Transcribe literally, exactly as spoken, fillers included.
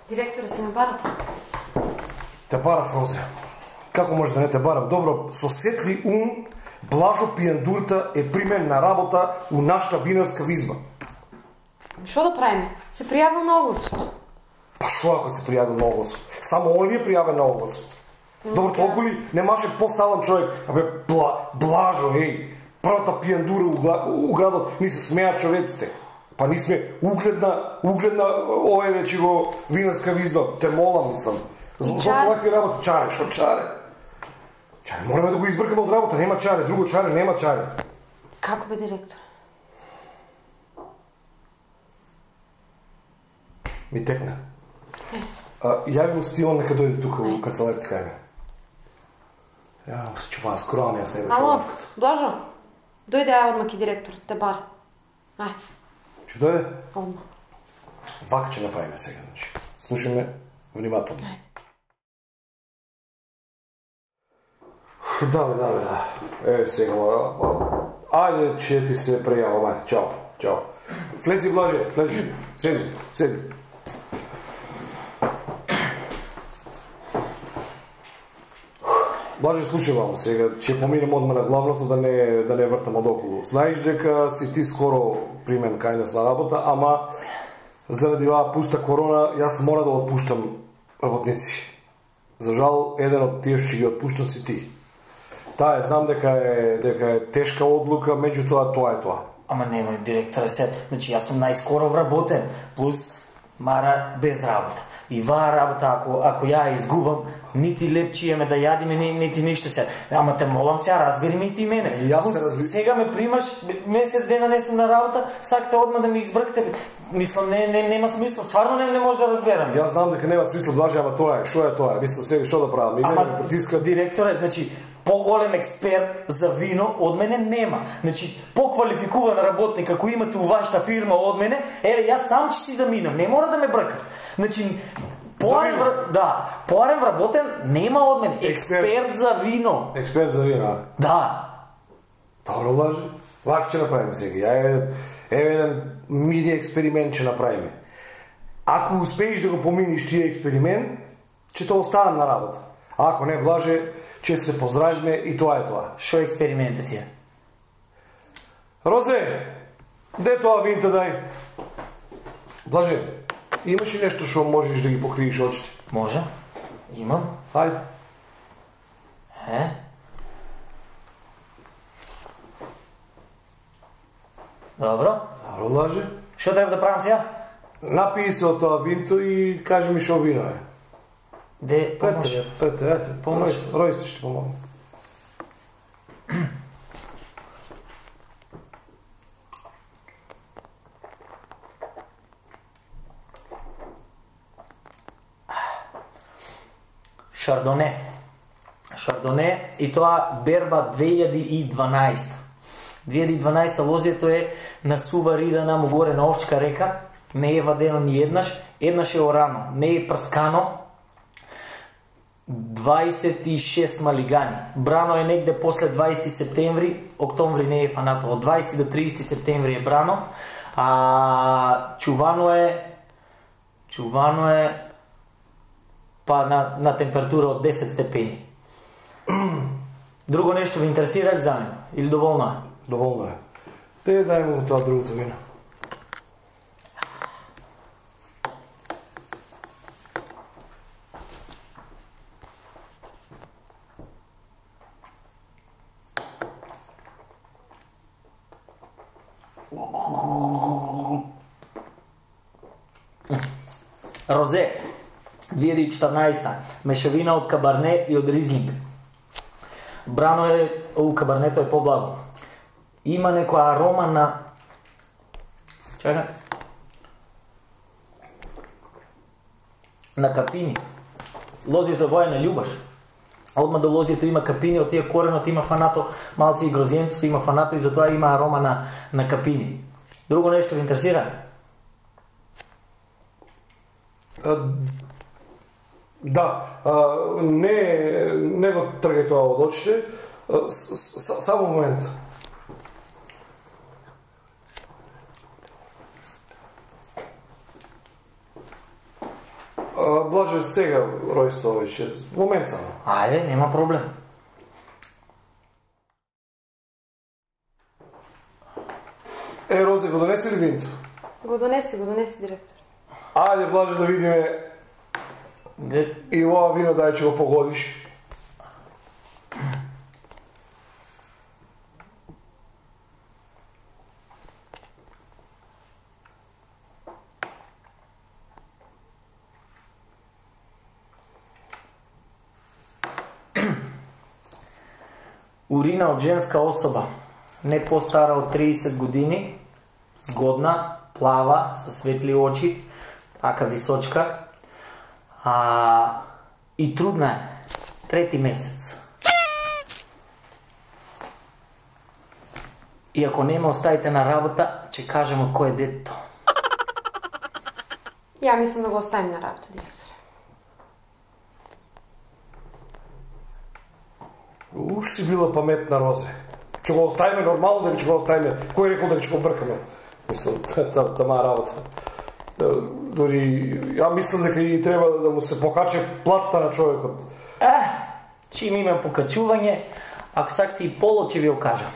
Директоре, се ме бара. Те барав, Розе. Како може да не те барам? Добро, со сетли ум, Блажо Пијандурта е примен на работа у нашата винарска визба. Шо да правиме? Се пријавил на огласот. Па шо ако се пријавил на огласот? Само он ли е пријавен на огласот? Добро, толку ли немаше по-салам човек? Абе, бла, Блажо, еј, првата пијандура у, у градот, ни се смеат човеците. Па ни сме угледна, угледна, овој речи го винарска визба. Те молам, мислам. Зошто вакви работи? Чаре, шо чаре? Чаре, мораме да го избркаме од работа, нема чаре, друго чаре, нема чаре. Како бе, директор? Ми текна. Јави му Стиван нека дојде тука у канцеларите кај ме. Ја, му се чупава скроам, јас не бе чувавката. Блажо, дојде ај одма ки директор, те бара. Ај. Ќе дојде? Одма. Вака ќе направиме сега, значи. Слушаме внимателно. Ајде. Да, бе, да, бе, да. Еве сега, ајде, че ти се пријавам, ајде, чао, чао. Влези, Блаже, влези, седи, седи. Блаже, слушај вам сега, ќе поминем одма на главното да не да не вртам од околу. Знаеш дека си ти скоро примен кај нас на работа, ама заради оваа пуста корона јас мора да отпуштам работници. За жал, еден од тие што ги отпуштам си ти. Таа, знам дека е дека е тешка одлука, меѓутоа тоа е тоа. Ама немој, директоре, се, значи јас сум најскоро вработен, плюс Мара без работа. И ваа работа, ако, ако ја изгубам, нити лепчи еме да јадиме, ни, нити ништо се. Ама те молам сега, разбери ми ти мене. Јас те разбирам. Сега ме примаш, месец дена не сум на работа, сакате одма да ми избркате. Мислам, не, не, нема смисла, стварно не, не може да разберам. Јас знам дека нема смисла, Блаже, ама тоа е, шо е тоа? Мислам, сега шо да правам? И ама, ме притискат. Директоре, значи, поголем експерт за вино од мене нема. Значи, поквалификуван работник, ако имате у вашата фирма од мене, еле, јас сам ќе си заминам, не мора да ме бркаш. Значи, поарен, да, поарен вработен нема од мене. Експерт, експерт за вино. Експерт за вино, а? Да. Добро, Блаже. Вака ќе направиме сега. Ја еве, еве еден мини експеримент ќе направиме. Ако успееш да го поминиш тие експеримент, ќе те оставам на работа. А ако не, Блаже, ќе се поздравиме и тоа е тоа. Шо експериментот ти е? Розе, де тоа винта дај? Блаже, имаш ли нешто што можеш да ги покриеш очите? Може. Имам. Ајде. Е? Добро. Добро, Блаже. Шо треба да правам сега? Напии се од тоа винто и кажи ми шо вино е. Де, помош. Прете, прете, ајде, помош. Ројсто ще помогне. Шардоне. Шардоне и тоа берба две илјади и дванаесета. две илјади и дванаесета лозието е на сува рида наму горе на Овчка река. Не е вадено ни еднаш. Еднаш е орано. Не е прскано. дваесет и шест малигани. Брано е негде после дваесети септември, октомври не е фанато. Од дваесети до триесети септември е брано. А чувано е чувано е па на, на температура од десет степени. Друго нешто ви интересира ли за него? Или доволно е? Доволно е. Те дај му тоа другото вино. Розе, две илјади и четрнаесета. Мешавина од кабарне и од ризлинг. Брано е, у кабарнето е поблаго. Има некоја арома на... Чакай. На капини. Лозието воја не љубаш. Одма до лозието има капини, од тие коренот има фанато, малци и грозиенци има фанато и затоа има арома на, на капини. Друго нешто ви интересира? А, да, а, не, не го тргај тоа од очите. А, с, с, само момент. А, А, Блаже сега ројство веќе, момент само. Ајде, нема проблем. Е, Розе, го донеси ли винто? Го донеси, го донеси, директор. Ајде, Блаже, да видиме Де... и ова вино дај че го погодиш. Урина од женска особа, не постара од триесет години, згодна, плава, со светли очи, така височка, а, и трудна е, трети месец. И ако не ме оставите на работа, ќе кажем од кој е детето. Ја мислам да го оставим на работа, директор. Уж си била паметна, Розе. Че го оставиме нормално, дека ќе го оставиме. Кој рекол дека ќе го бркаме? Мислам, тама работа. Дори, ја мислам дека и треба да му се покаче платта на човекот. Е, чим има покачување, ако сакате и поло ќе ви окажам.